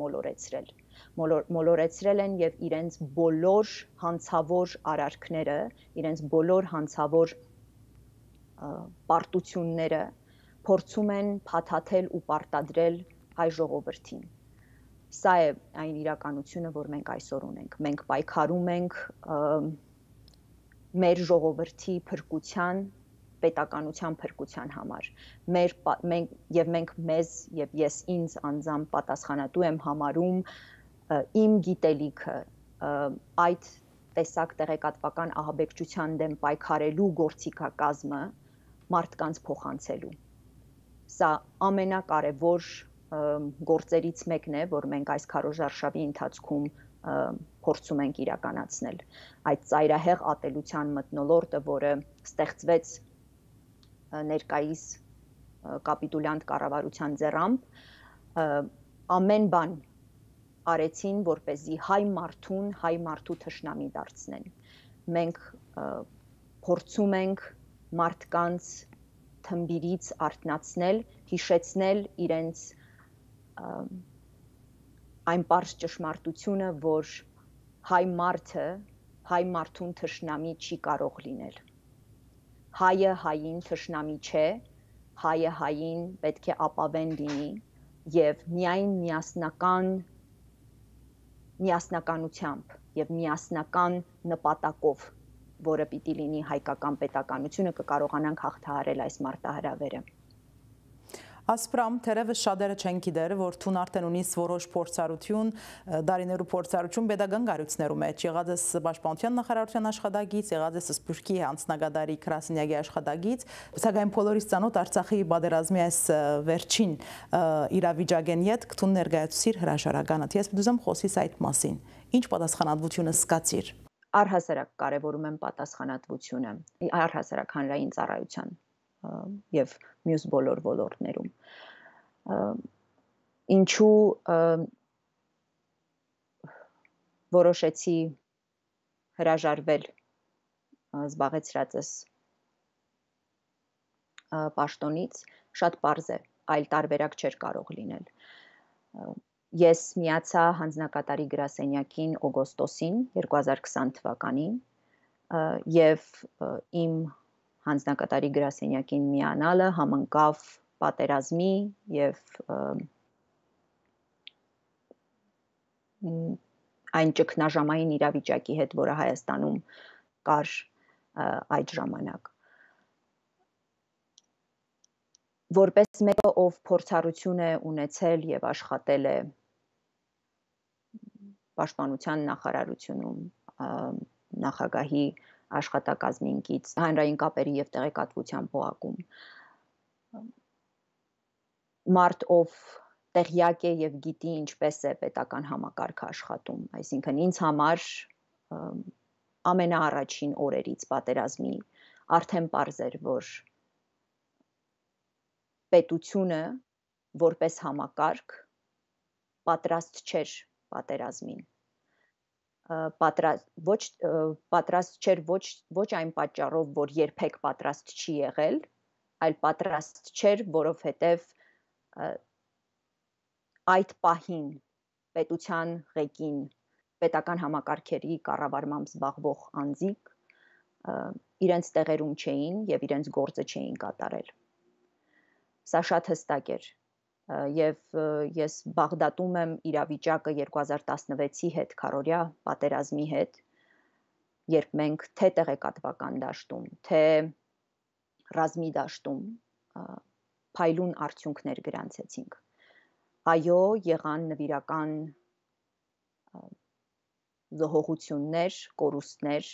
մոլորեցրել են եւ իրենց բոլոր հանցավոր արարքները, իրենց բոլոր հանցավոր պարտությունները փորձում են փաթաթել ու պարտադրել հայ ժողովրդին։ Սա է այն իրականությունը, որ մենք այսօր ունենք։ Մենք պայքարում ենք մեր ժողովրդի փրկության, պետականության փրկության համար։ Մենք մեզ եւ ես ինձ անձամբ պատասխանատու եմ համարում իմ գիտելիքը այդ տեսակ տեղեկատվական ահաբեկչության դեմ պայքարելու գործիքակազմը մարդկանց փոխանցելու։ Սա ամենակարևոր գործերից մեկն է, որ մենք այս քարոզարշավի ընթացքում փորձում ենք իրականացնել։ Այդ ծայրահեղ ատելության մթնոլորտը, որը ստեղծվեց ներկայիս կապիտուլյանտ կառավարության ձեռամբ, ամեն բան արեցին, որպեսզի հայ մարդու թշնամի դարձնեն։ Մենք փորձում ենք մարդկանց թմբիրից արթնացնել, հիշեցնել իրենց այն պարզ ճշմարտությունը, որ հայ մարդուն թշնամի չի կարող լինել։ Հայը հային թշնամի չէ, հայը հային պետք է ապավեն լինի եւ միայն միասնականությամբ եւ միասնական նպատակով, որը պիտի լինի հայկական պետականությունը, կկարողանանք հաղթահարել այս մարտահրավերը։ Ասպրամ, թերևս շատերը չեն գիտեր, որ թուն արդեն ունիս որոշ փորձառություն, դարիներու փորձառություն pedagogan գարույցներու մեջ, եղած է Պաշտպանության նախարարության աշխատագիծ, եղած է Սփյուռքի հանձնագետարի Կրասնյակի աշխատագիծ, սակայն բոլորից ծանոթ Արցախի պատերազմի այս վերջին իրավիճակեն հետ քթուն ներկայացուցիր հրաշարականը։ Ես ուզում խոսիս այդ մասին։ Ինչ պատասխանատվությունը սկացիր։ Առհասարակ կարևորում եմ պատասխանատվությունը, առհասարակ հանրային ծառայության եւ մյուս բոլոր ոլորտներում։ Ինչու որոշեցի հրաժարվել զբաղեցրածս պաշտոնից, շատ պարզ է, այլ տարբերակ չէր կարող լինել։ Ես միացա հանձնակատարի գրասենյակին օգոստոսին 2020 թվականին եւ իմ հանձնակատարի գրասենյակին միանալը համընկավ պատերազմի եւ այն ճգնաժամային իրավիճակի հետ, որը Հայաստանում կար այդ ժամանակ։ Որպես մեկը, ով փորձառություն է ունեցել եւ աշխատել է Պաշտպանության նախարարությունում, նախագահի աշխատակազմինքից, հանրային կապերի եւ տեղեկատվության պոակում, մարդ, ով տեղյակ է եւ գիտի ինչպես է պետական համակարգը աշխատում, այսինքն ինձ համար ամենաառաջին օրերից պատերազմի արդեն պարզ էր, որ պետությունը որպես համակարգ պատրաստ չէր պատերազմին։ Պատրաստ չէր ոչ այն պատճառով, որ երբեք պատրաստ չի եղել, այլ պատրաստ չէր, որովհետև այդ պահին պետության ղեկին պետական համակարգերի կառավարմամբ զբաղվող անձիկ իրենց տեղերում չէին եւ իրենց գործը չէին կատարել։ Սա շատ հստակ էր եւ ես Բաղդադում եմ իրավիճակը 2016-ի հետ, քարորյա պատերազմի հետ, երբ մենք թե տեղեկատվական դաշտում, թե ռազմի դաշտում փայլուն արդյունքներ գրանցեցինք։ Այո, եղան նվիրական զոհողություններ, կորուստներ,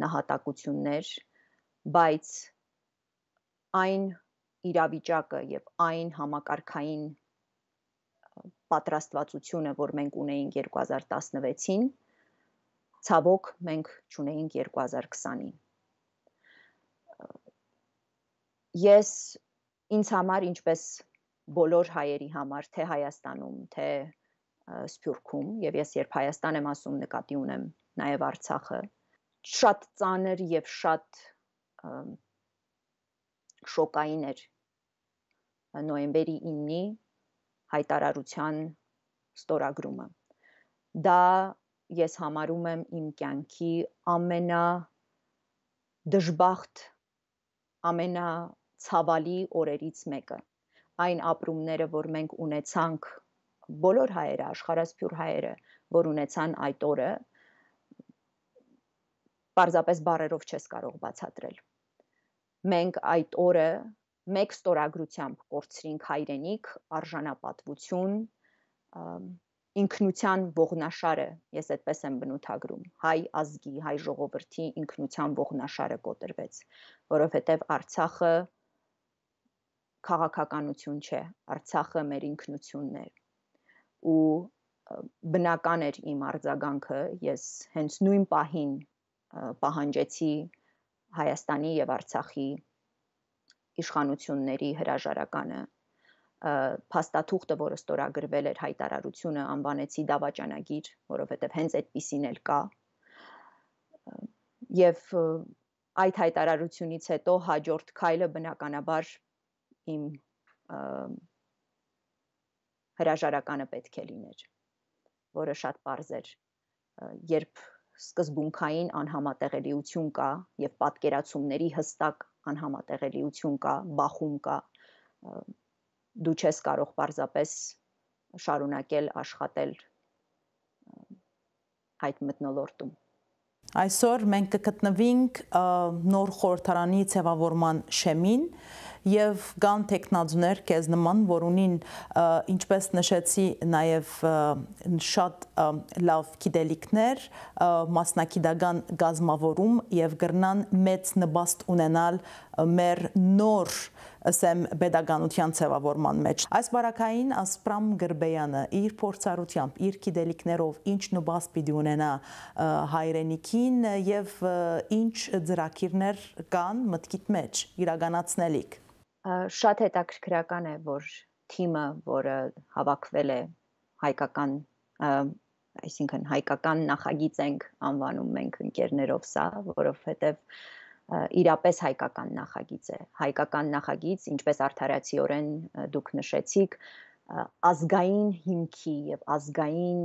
նահատակություններ, բայց այն իրավիճակը եւ այն համակարգային պատրաստվածությունը, որ մենք ունեինք 2016-ին, ցավոք մենք չունեինք 2020-ին։ Ես ինձ համար, ինչպես բոլոր հայերի համար, թե Հայաստանում, թե Սփյուռքում, եւ ես երբ Հայաստան եմ ասում, նկատի ունեմ նաեւ Արցախը, շատ ծանր եւ շատ շոկային էր նոյեմբերի 9-ի հայտարարության ստորագրումը։ Դա ես համարում եմ իմ կյանքի ամենադժբախտ, ամենացավալի օրերից մեկը։ Այն ապրումները, որ մենք ունեցանք, բոլոր հայերը, աշխարհասփյուռ հայերը, որ ունեցան այդ օրը, պարզապես բառերով չես կարող բացատրել։ Մենք այդ օրը մեկ ստորագրությամբ կորցրինք հայրենիք, արժանապատվություն, ինքնության ողնաշարը, ես այդպես եմ բնութագրում, հայ ազգի, հայ ժողովրդի ինքնության ողնաշարը կոտրվեց, որովհետև Արցախը քաղաքականություն չէ, Արցախը մեր ինքնությունն է։ Ու բնական էր իմ արձագանքը, ես հենց նույն պահին պահանջեցի Հայաստանի եւ Արցախի իշխանությունների հրաժարականը, փաստաթուղթը, որը ստորագրվել էր հայտարարությունը, անվանեցի դավաճանագիր, որովհետև հենց այդպիսին էլ կա։ Եվ այդ հայտարարությունից հետո հաջորդ քայլը բնականաբար իմ հրաժարականը պետք է լիներ, որը շատ պարզ էր, երբ սկզբունքային անհամատեղելիություն կա եւ պատկերացումների հստակ անհամատեղելիություն կա, բախում կա, դու չես կարող պարզապես շարունակել աշխատել այդ մթնոլորտում։ Այսօր մենք կգտնվենք նոր խորհրդարանի ձևավորման շեմին եւ կան տեխնազուներ քեզ նման, որ ունին ինչպես նշեցի նաեւ շատ լավ գիտելիքներ, մասնակիտական գազմավորում եւ գրնան մեծ նպաստ ունենալ մեր նոր ասեմ pedagogian ձևավորման մեջ։ Այս բարակային Ասպրամ Գրբեյանը իր փորձառությամբ, իր գիտելիքներով ինչ նպաստ պիտի ունենա հայրենիքին եւ ինչ ծրագիրներ կան մտքիդ մեջ իրականացնելիք։ Շատ հետաքրքրական է, որ թիմը, որը հավաքվել է հայկական, այսինքն հայկական նախագիծ ենք անվանում մենք ընկերներով սա, որովհետև իրապես հայկական նախագիծ է։ Հայկական նախագիծ, ինչպես արդարացիորեն դուք նշեցիք, ազգային հիմքի եւ ազգային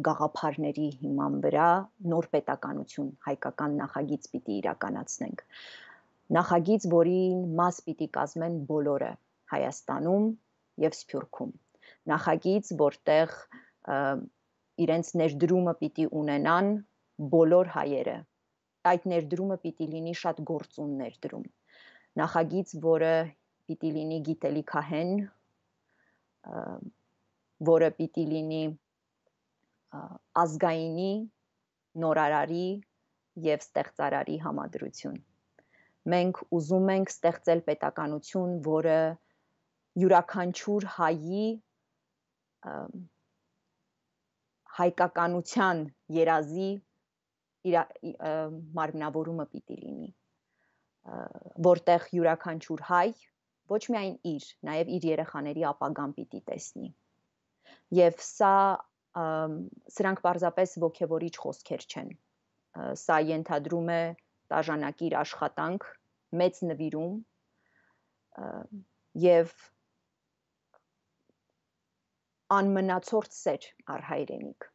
գաղափարների հիման վրա նոր պետականություն, հայկական նախագիծ պիտի իրականացնենք։ Նախագիծ, որին մաս պիտի կազմեն բոլորը Հայաստանում եւ Սփյուռքում։ Նախագիծ, որտեղ իրենց ներդրումը պիտի ունենան բոլոր հայերը։ Այդ ներդրումը պիտի լինի շատ գործուն ներդրում։ Նախագիծ, որը պիտի լինի գիտելիքահեն, որը պիտի լինի ազգայինի, նորարարի եւ ստեղծարարի համադրություն։ Մենք ուզում ենք ստեղծել պետականություն, որը յուրաքանչյուր հայի հայկականության երազի մարմնավորումը պիտի լինի, որտեղ յուրաքանչյուր հայ ոչ միայն իր, նաև իր երեխաների ապագան պիտի տեսնի։ Եվ սրանք պարզապես ոգևորիչ խոսքեր չեն։ Սա ենթադրում է տաժանակիր աշխատանք, մեծ նվիրում եւ անմնացորդ սեր առ հայրենիք։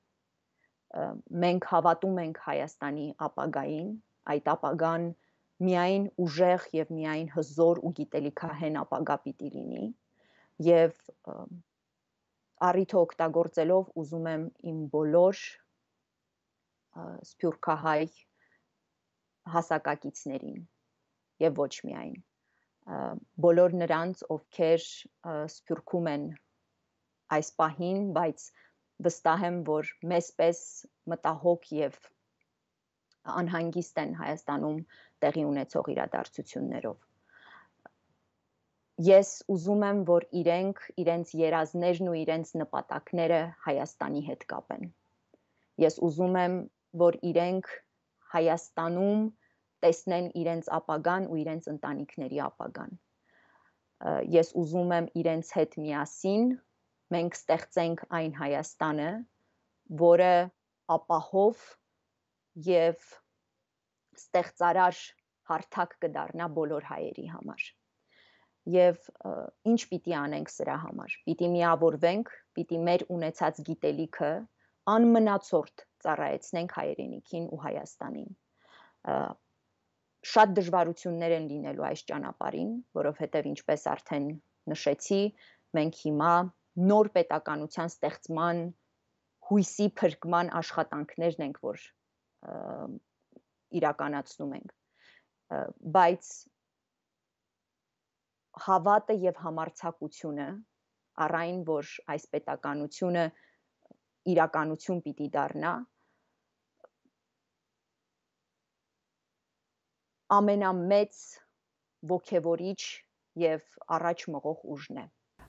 Մենք հավատում ենք Հայաստանի ապագային, այդ ապագան միայն ուժեղ եւ միայն հզոր ու գիտելիքահեն ապագա պիտի լինի եւ առիթը օգտագործելով ուզում եմ իմ բոլոր սփյուռքահայ հասակակիցներին եւ ոչ միայն բոլոր նրանց, ովքեր Սփյուռքում են այս պահին, բայց վստահ եմ, որ մեզպես մտահոգ եւ անհանգիստ են Հայաստանում տեղի ունեցող իրադարձություններով։ Ես ուզում եմ, որ իրենց երազներն ու իրենց նպատակները Հայաստանի հետ կապեն։ Ես ուզում եմ, որ իրենք Հայաստանում տեսնեն իրենց ապագան ու իրենց ընտանիքների ապագան։ Ես ուզում եմ իրենց հետ միասին մենք ստեղծենք այն Հայաստանը, որը ապահով եւ ստեղծարար հարթակ կդառնա բոլոր հայերի համար։ Եվ ինչ պիտի անենք սրա համար։ Պիտի միավորվենք, պիտի մեր ունեցած գիտելիքը անմնացորդ ծառայեցնենք հայրենիքին ու Հայաստանին։ Շատ դժվարություններ են լինելու այս ճանապարհին, որովհետև ինչպես արդեն նշեցի, մենք հիմա նոր պետականության ստեղծման հույսի փրկման աշխատանքներն ենք, որ իրականացնում ենք, բայց հավատը եւ համարձակությունը առայն որ այս պետականությունը իրականություն պիտի դառնա, ամենամեծ ոգևորիչ եւ առաջ մղող ուժն է։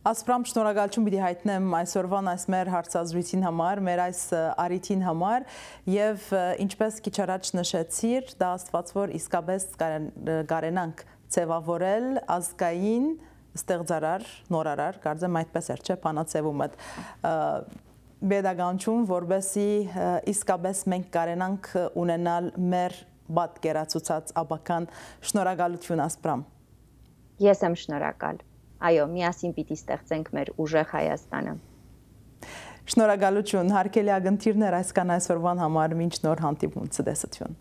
Ասպրամ, շնորհակալություն պիտի հայտնեմ այսօրվան այս մեր հարցազրույցին համար, մեր այս առիթին համար եւ ինչպես քիչ առաջ նշեցիր, դա աստված որ իսկապես կարենանք ձևավորել ազգային ստեղծարար, նորարար, կարծեմ այդպես էր, չէ՞, բանացևումը բեդականություն, որբեսի իսկապես մենք կարենանք ունենալ մեր պատկերացուցած ապական։ Շնորհակալություն ասպրամ։ Ես եմ շնորհակալ։ Այո, միասին պիտի ստեղծենք մեր ուժեղ Հայաստանը։ Շնորհակալություն, հարգելի ագնտիրներ, այսքան այսօրվան համար, մինչ նոր հանդիպում, ցտեսություն։